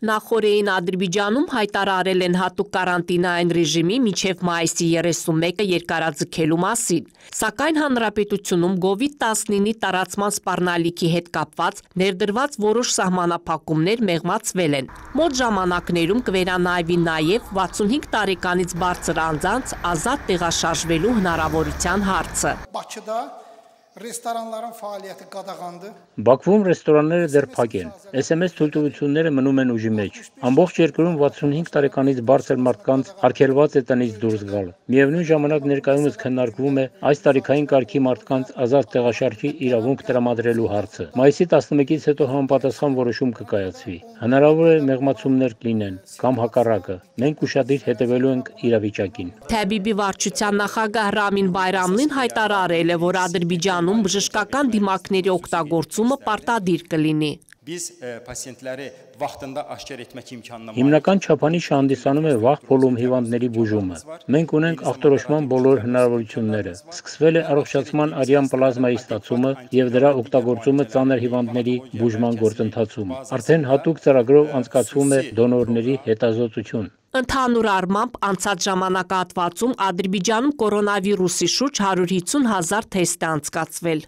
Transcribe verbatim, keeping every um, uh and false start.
Նախորդին Ադրբեջանում հայտարարել են հատուկ կարանտինային ռեժիմի մինչև մայիսի երեսունմեկը երկարաձգելու մասին, սակայն հանրապետությունում կովիդ տասնինի տարածման սպառնալիքի հետ կապված ներդրված որոշ սահմանափակումներ մեղմացվել են։ Մոտ ժամանակներում կվերանայվի նաև վաթսունհինգ տարեկանից բարձր անձանց ազատ տեղաշարժվելու հնարավորության հարցը։ Ռեստորանların faaliyeti qadağandı. Բաքվում ռեստորանները դեռ փակ են։ Էս էմ էս թույլտվությունները մնում են ուժի մեջ։ Ամբողջ երկրում վաթսունհինգ տարեկանից բարձր մարդկանց արգելված է տնից դուրս գալ։ Միևնույն ժամանակ ներկայումս քննարկվում է այս տարիքային կարգի մարդկանց ազատ տեղաշարժի իրավունք տրամադրելու հարցը։ Մայիսի տասնմեկից հետո համապատասխան որոշում կկայացվի։ Հնարավոր է մեղմացումներ կլինեն կամ հակառակը։ Մենք ուշադիր հետևելու ենք իրավիճակին։ Թեբիբի վարչության նախագահ Ռամին Բայրամլին հայտարարել է, որ Ադրբեջանում բժշկական դիմակների օգտագործումը պարտադիր կլինի։ Biz pasientləri vaxtında aşkar etmək imkanına Հիմնական չափանիշը հանդիսանում է վաղ փոլում հիվանդների բուժումը։ Մենք ունենք ախտորոշման բոլոր հնարավորությունները։ Սկսվել է առողջացման արյան պլազմայի ստացումը եւ դրա օգտագործումը ծանր հիվանդների բուժման գործընթացում։ Արդեն հատուկ ծրագրով անցկացվում է դոնորների հետազոտություն։ Ընդհանուր առմամբ անցած ժամանակահատվածում Ադրբեջանում կորոնավիրուսի շուրջ հարյուր հիսուն հազար թեստ է անցկացվել։